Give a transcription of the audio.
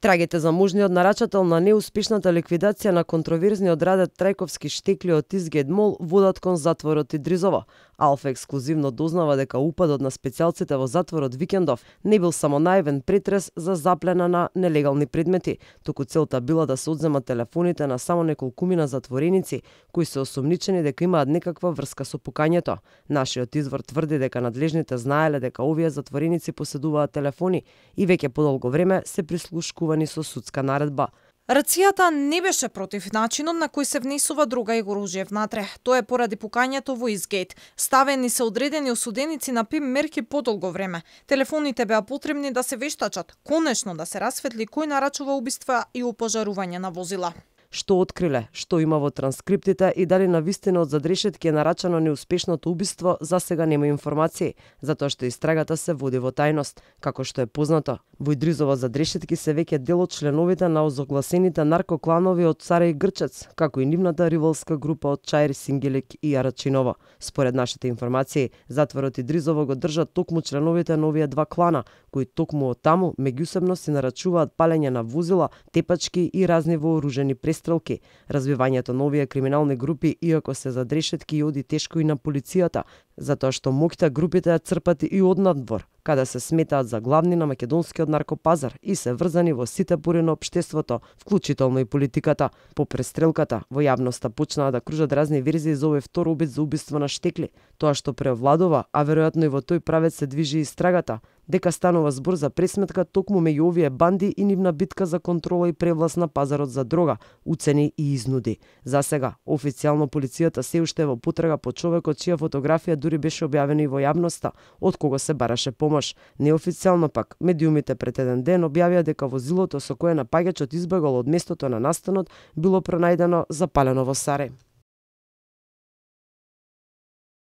Трагите за можниот нарачател на неуспешната ликвидација на контроверзниот радет Трајковски штекли од Изгед Мол водат кон затворот Идризово. Алфа ексклузивно дознава дека упадот на специјалците во затворот викендов не бил само наивен претрес за заплена на нелегални предмети, туку целта била да се одземат телефоните на само неколкумина затвореници кои се осомничени дека имаат некаква врска со пукањето. Нашиот извор тврди дека надлежните знаеле дека овие затвореници поседуваат телефони и веќе подолго време се прислушкувани со судска наредба. Рацијата не беше против начинот на кој се внесува друга и оружје внатре. Тоа е поради пукањето во Изгейт. Ставени се одредени осуденици на ПИМ мерки подолго време. Телефоните беа потребни да се вештачат, конечно да се расветли кој нарачува убиства и опожарување на возила. Што откриле, што има во транскриптите и дали навистина од задрешетки е нарачано неуспешното убиство, за сега нема информации, затоа што истрагата се води во тајност. Како што е познато, во Идризово задрешетки се веќе дел од членовите на озогласените наркокланови од Царе и Грчец, како и нивната ривалска група од Чаир, Сингелик и Арачиново. Според нашите информации, затворот Идризово го држат токму членовите на овие два клана, кои токму од таму меѓусебно си нарачуваат палење на возила, тепачки и разни вооружени престрелки. Развивањето на овие криминални групи, иако се задрешетки, оди тешко и на полицијата, затоа што моќта групите ја црпат и од надвор, каде се сметаат за главни на македонскиот наркопазар и се врзани во сите пори на општеството, вклучително и политиката. По престрелката, во јавноста почнаа да кружат разни верзии за овој втор обид за убиство на штекли. Тоа што преовладува, а веројатно и во тој правец се движи истрагата, дека станува збор за пресметка токму меѓу овие банди и нивна битка за контрола и превласт на пазарот за дрога, уцени и изнуди. За сега, официјално полицијата се уште е во потрага по човекот чија фотографија дури беше објавена и во јавноста, од кого се бараше помош. Неофицијално пак, медиумите пред еден ден објавија дека возилото со кое напаѓачот избегал од местото на настанот било пронајдено запалено во Сарај.